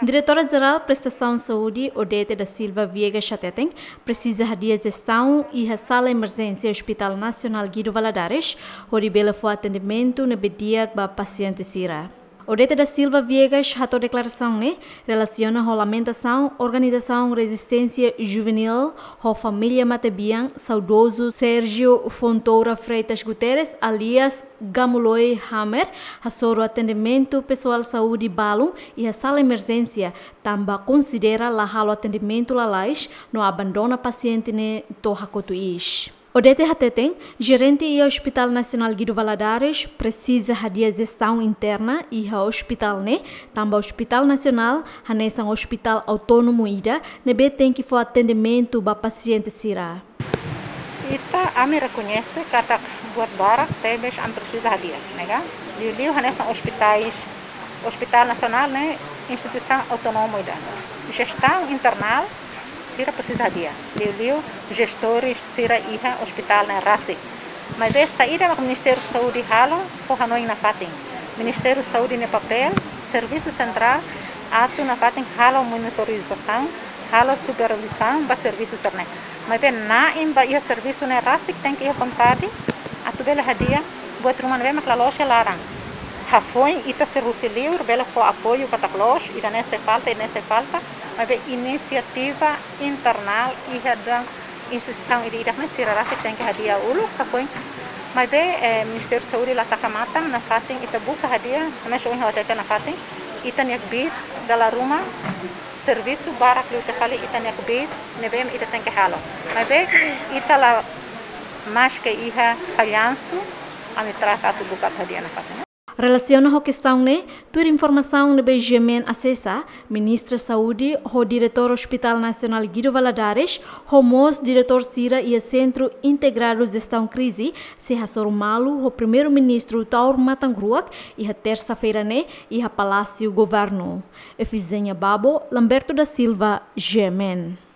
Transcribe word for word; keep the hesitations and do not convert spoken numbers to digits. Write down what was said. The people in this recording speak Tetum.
Diretora Jerál Prestasaun Saúde, Odete da Silva Viegas hateten, presiza hadi'a jestaun iha sala emerjénsia Hospital Nasionál Guido Valadares, hodi bele fó atendimentu ne'ebé di'ak ba pasiente sira. Odete da Silva Viegas hato'o deklarasaun ne'e relasiona ho lamentasaun organizasaun Rezisténsia Juvenil ho família matebian saudozu Sérgio Fontoura Freitas Guterres, alias Gamuloi Hammer, hasoru atendimentu pesoál saúde balun iha sala emerjénsia, tanba konsidera la halo atendimentu lalais no abandona pasiente ne'e to'o hakotu iis. Odete hateten, jerente iha Hospital Nasionál Guido Valadares presiza hadi'a jestaun interna iha hospital ne'e, tanba Hospital Nasionál hanesan hospital autónomu ida ne'ebé tenke fó atendimentu ba pasiente sira. Ita, ami rekoñese katak buat barak tebes ami presiza hadi'a, ne'e ka? Liuliu hanesan ospitais, Hospital Nasionál ne'e instituisaun autónomu ida. Jestaun internál sira presiza hadi'a. Liuliu jestores sira iha hospital ne'e rasik. Maibé saida mak Ministériu Saúde halo fó hanoin nafatin. Ministériu Saúde nia papél, servisu sentrál, atu nafatin halo monitorizasaun, halo supervizaun ba servisu sira-ne'e. Maibé na'in ba iha servisu ne'e rasik tenke iha vontade atu bele hadi'a buat ruma ne'ebé mak la loos iha laran. Hafoin ita sira husi liur bele fó apoiu katak loos, ida-ne'e sei falta, ida-ne'e sei falta, maibé inisiativa internál iha dalan instituisaun ida-idak ne'e sira rasik tenke hadi'a uluk hafoin. Maibé, eh, Ministériu Saúde la taka matan, nafatin ita buka hadi'a, hanesan ohin ha'u hatete nafatin, ita-nia kbiit dala ruma, servisu barak liután fali ita-nia kbiit ne'ebé ita tenke halo. Maibé ita la, maske iha fallansu, ami trata atu buka atu hadi'a nafatin. Relasiona ho kestaun ne'e, tuir informasaun ne'ebé GMN asesa, Ministra Saúde ho Diretór Hospital Nasionál Guido Valadares, ho mós diretór sira iha Sentru Integradu Jestaun Krize, sei hasoru malu ho Primeiru-Ministru Taur Matan Ruak iha tersa-feira ne'e iha Palásiu Governu. Efizénia Babo, Lamberto da Silva, GMN.